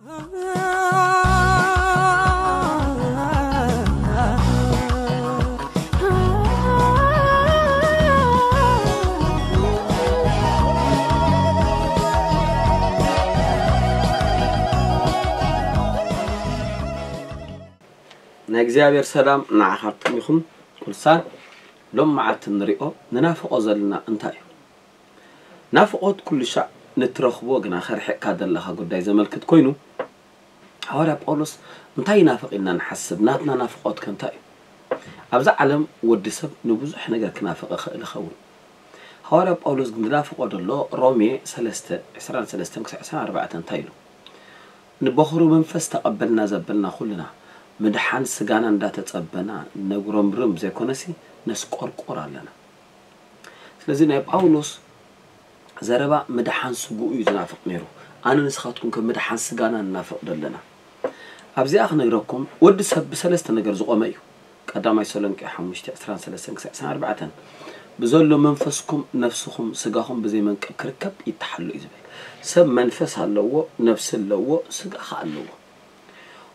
ናይ እግዚኣብሔር ሰላም ንዓኻትኩም ይኹን። ቅዱሳን፣ ሎም መዓልቲ ንሪኦ ንናፍቖ ዘለና እንታይ እዩ? ናፍቖት ኩሉ ሻዕ ንትረኽቦ ግና ከርሕቕካ ዘለኻ ጉዳይ ዘመልክት ኮይኑ፣ ሃዋርያ ጳውሎስ እንታይ ይናፍቕ ኢልና ንሓስብ? ናትና ናፍቖት ከ እንታይ እዩ? ኣብዛ ዓለም ወዲ ሰብ ንብዙሕ ነገር ክናፍቕ ይኽእል ይኸውን። ሃዋርያ ጳውሎስ ግን ዝናፍቖ ዘሎ ሮሜ ሰለስተ፣ ዕስራን ሰለስተን ክሳዕ ዕስራን ኣርባዕተን እንታይ ኢሉ? ንበኹሩ መንፈስ ተቐበልና ዘበልና ኩልና፣ ምድሓን ስጋና እንዳተጸበና፣ ነጉረምርም ዘይኮነሲ፣ ነስቆርቆር ኣለና። ስለዚ ናይ ጳውሎስ ዘረባ ምድሓን ስግኡ እዩ ዝናፍቕ ነይሩ። ኣነ ንስኻትኩም ከም ምድሓን ስጋና ንናፍቕ ዘለና። ኣብዚኣ ክነግረኩም፣ ወዲ ሰብ ብሰለስተ ነገር ዝቖመ እዩ። ቀዳማይ ተሰሎንቄ ሓሙሽተ፣ ዕስራን ሰለስተን ክሳዕ ዕስራን ኣርባዕተን፣ ብዘሎ መንፈስኩም፣ ነፍስኹም፣ ስጋኹም ብዘይ መንቀብ ክርከብ ይተሓሎ እዩ ዝብል። ሰብ መንፈስ ኣለዎ፣ ነፍሲ ኣለዎ፣ ስጋ ኸኣ ኣለዎ።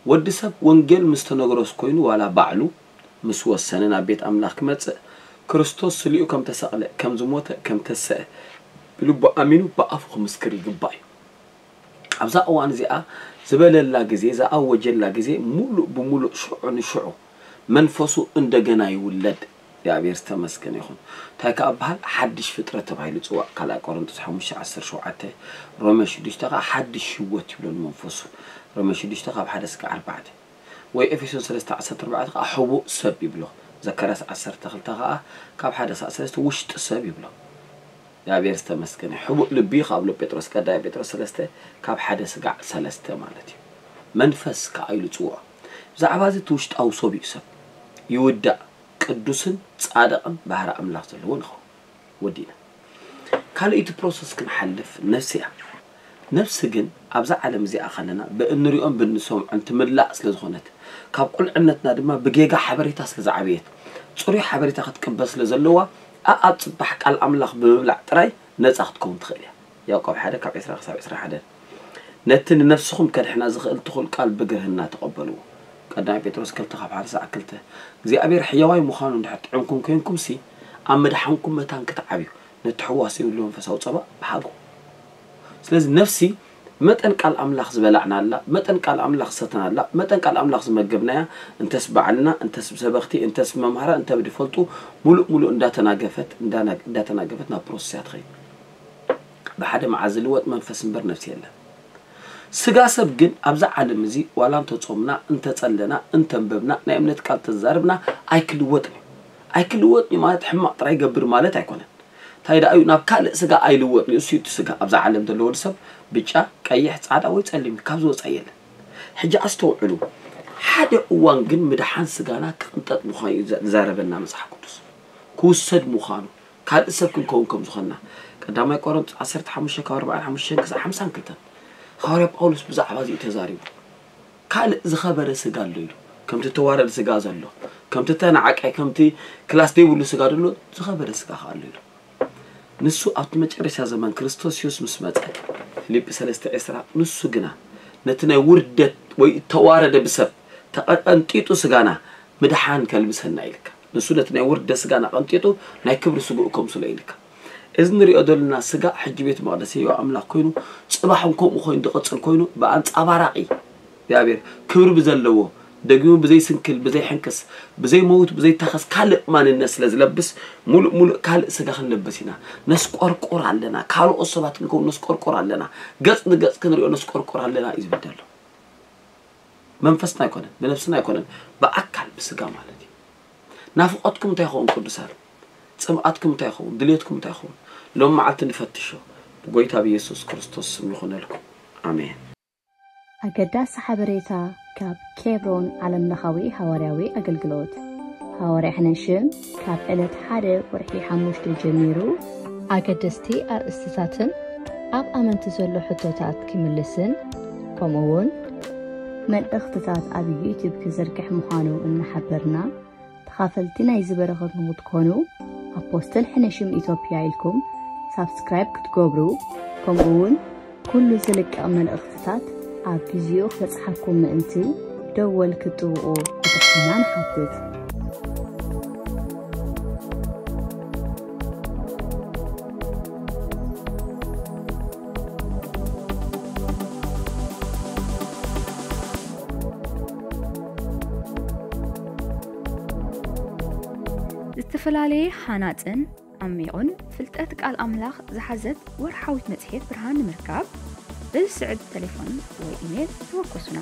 ወዲ ሰብ ወንጌል ምስ ተነግሮስ ኮይኑ ዋላ ባዕሉ ምስ ወሰነ ናብ ቤት ኣምላኽ ክመጽእ፣ ክርስቶስ ስሊኡ ከም ተሰቕለ፣ ከም ዝሞተ፣ ከም ተሰአ ብልቡ ኣሚኑ ብኣፉ ክምስክር ይግባእ እዩ። ኣብዛ እዋን እዚኣ ዝበለላ ግዜ፣ ዝኣወጀላ ግዜ፣ ሙሉእ ብሙሉእ ሽዑ ንሽዑ መንፈሱ እንደገና ይውለድ። እግዚኣብሔር ዝተመስገነ ይኹን። እንታይ ከኣ በሃል ሓድሽ ፍጥረት ተባሂሉ ይጽዋዕ። ካልኣይ ቆሮንቶስ ሓሙሽተ ዓሰርተ ሸውዓተ፣ ሮሜ ሽዱሽተ ከኣ ሓድሽ ህይወት ይብሎ ንመንፈሱ። ሮሜ ሽዱሽተ ካብ ሓደ እስከ ኣርባዕተ። ወይ ኤፌሶን ሰለስተ ዓሰርተ ኣርባዕተ ከኣ ሕቡእ ሰብ ይብሎ። ዘካርያስ ዓሰርተ ክልተ ከኣ ካብ ሓደ እስከ ሰለስተ ውሽጢ ሰብ ይብሎ። እግዚኣብሔር ዝተመስገነ። ሕቡእ ልቢ ካብ ሎ ጴጥሮስ፣ ቀዳማይ ጴጥሮስ ሰለስተ ካብ ሓደ ስጋዕ ሰለስተ ማለት እዩ። መንፈስ ከኣ ኢሉ ጽውዖ። ብዛዕባ እዚ እቲ ውሽጣዊ ሰብ እዩ ሰብ። ይውዳእ፣ ቅዱስን ጻድቕን ባህሪ ኣምላኽ ዘለዎ ንኸውን። ወዲእና። ካልኣይቲ ፕሮሰስ ክንሓልፍ ነፍሲ እያ። ነፍሲ ግን ኣብዛ ዓለም እዚኣ ከለና ብእንሪኦን ብንሰምዖን ትምላእ ስለ ዝኾነት፣ ካብ ቁልዕነትና ድማ ብጌጋ ሓበሬታ ስለ ዝዓበየት፣ ጽሩይ ሓበሬታ ክትቅበል ስለ ዘለዋ፣ ኣኣብ ጽባሕ ቃል ኣምላኽ ብምብላዕ ጥራይ ነጻ ክትከውን ትኽእል እያ። ያዕቆብ ሓደ ካብ ዕስራ ክሳብ ዕስራን ሓደን። ነቲ ንነፍስኹም ከድሕና ዝኽእል ትኹል ቃል ብግርህና ተቐበልዎ። ቀዳማይ ጴጥሮስ ክልተ ካብ ሓደ ክሳዕ ክልተ። እግዚኣብሔር ሕያዋይ ምዃኑ እንድሕር ጥዕምኩም ኮይንኩምሲ፣ ኣብ ምድሓንኩም መታን ክትዓብዩ፣ ነቲ ሕዋስ ዘይብሉ መንፈሳዊ ጸባ ብሓጎ። ስለዚ ነፍሲ መጠን ቃል ኣምላኽ ዝበላዕናላ፣ መጠን ቃል ኣምላኽ ዝሰተናላ፣ መጠን ቃል ኣምላኽ ዝመገብናያ፣ እንተስ ባዕልና፣ እንተስ ብሰበኽቲ፣ እንተስ ብመምሃራ፣ እንተ ብድፈልጡ፣ ሙሉእ ሙሉእ እንዳተናገፈት፣ እንዳና-፣ እንዳተናገፈት ናብ ፕሮሰስ እያ ትኸይድ። ብሓደ መዓልቲ ዝልወጥ መንፈስ እምበር ነፍሲ የለን። ስጋ ሰብ ግን ኣብዛ ዓለም እዚ ዋላ እንተጾምና፣ እንተጸለና፣ እንተንበብና፣ ናይ እምነት ቃል ተዛርብና ኣይክልወጥን እዩ። ኣይክልወጥን እዩ ማለት ሕማቕ ጥራይ ይገብር ማለት ኣይኮነን። እንታይ ደኣ እዩ ናብ ካልእ ስጋ ኣይልወጥን እዩ። እሱ እዩ እቲ ስጋ ኣብዛ ዓለም ዘሎ ወዲ ሰብ ብጫ፣ ቀይሕ፣ ጻዕዳ ወይ ጸሊም እዩ። ካብዚ ወጻኢ የለን። ሕጂ ኣስተውዕሉ። ሓደ እዋን ግን ምድሓን ስጋና ክቕንጠጥ ምዃኑ እዩ ዘ-፣ ዝዛረበና መጽሓፍ ቅዱስ። ክውሰድ ምዃኑ፣ ካልእ ሰብ ክንከውን ከም ዝኾንና። ቀዳማይ ቆሮንቶስ ዓሰርተ ሓሙሽተ ካብ ኣርባዓን ሓሙሽተን ክሳዕ ሓምሳን ክልተን። ሃዋርያ ጳውሎስ ብዛዕባ እዚ እዩ ተዛሪቡ። ካልእ ዝኸበረ ስጋ ኣሎ ኢሉ። ከምቲ ተዋረድ ስጋ ዘሎ፣ ከምቲ ተናዓቃይ፣ ከምቲ ክላስ ዘይብሉ ስጋ ዘሎ ዝኸበረ ስጋ ከኣ ኣሎ ኢሉ። ንሱ ኣብቲ መጨረሻ ዘመን ክርስቶስ የሱስ ምስ መጸ፣ ፊልጲ ሰለስተ ዕስራ፣ ንሱ ግና ነቲ ናይ ውርደት ወይ እተዋረደ ብሰብ ተቐንጢጡ ስጋና ምድሓን ከልብሰና ኢልካ። ንሱ ነቲ ናይ ውርደት ስጋና ቀንጢጡ ናይ ክብሪ ስግኡ ከምስሎ ኢልካ። እዚ ንሪኦ ዘለና ስጋ ሕጂ ቤት መቕደስ ህያው ኣምላኽ ኮይኑ፣ ጽባሕ እውን ከምኡ ኮይኑ ዝቕጽል ኮይኑ፣ ብኣንጻባራቒ እግዚኣብሔር ክብሪ ብዘለዎ፣ ደጊሙ ብዘይስንክል፣ ብዘይሕንክስ፣ ብዘይመውት፣ ብዘይታኸስ ካልእ ማንነት ስለ ዝለብስ፣ ሙሉእ ሙሉእ ካልእ ስጋ ክንለብስ ኢና። ነስቆርቆር ኣለና። ካልኦት ሰባት ክንከውን ነስቆርቆር ኣለና። ገጽ ንገጽ ክንሪኦ ነስቆርቆር ኣለና እዩ ዝብል ዘሎ። መንፈስና ኣይኮነን፣ ብነፍስና ኣይኮነን፣ ብኣካል ብስጋ ማለት እዩ። ናፍቖትኩም እንታይ ይኸውን ቅዱሳን? ጽምኣትኩም እንታይ ይኸውን? ድልየትኩም እንታይ ይኸውን? ሎም መዓልቲ ንፈትሾ። ብጎይታ ብየሱስ ክርስቶስ ስም ይኹነልኩም። ኣሜን። ኣገዳሲ ሓበሬታ ካብ ኬብሮን ዓለምለኻዊ ሃዋርያዊ ኣገልግሎት። ሃዋርያ ሕነሽም ካብ ዕለት ሓደ ወርሒ ሓሙሽተ ጀሚሩ ኣገደስቲ ኣርእስትታትን ኣብ ኣመንቲ ዘሎ ሕቶታት ክምልስን፣ ከምኡ እውን መልእኽትታት ኣብ ዩቱብ ክዝርግሕ ምዃኑ እናሓበርና፣ ተኻፈልቲ ናይዚ በረኸት ንኽትኮኑ፣ ኣፖስትል ሕነሽም ኢትዮጵያ ኢልኩም ሳብስክራይብ ክትገብሩ፣ ከምኡ እውን ኩሉ ዝልቀቕ መልእኽትታት ኣብ ግዜኡ ክበጽሓኩም ምእንቲ ደወል ክትጥውቑ ብትሕትና ንሓትት። ዝተፈላለየ ሃናጽን ዓሚቑን ፍልጠት ቃል ኣምላኽ ዝሓዘት ወርሓዊት መጽሔት ብርሃን ንምርካብ፣ በዚ ስዕብ ተሌፎን ወይ ኢሜል ተወከሱና።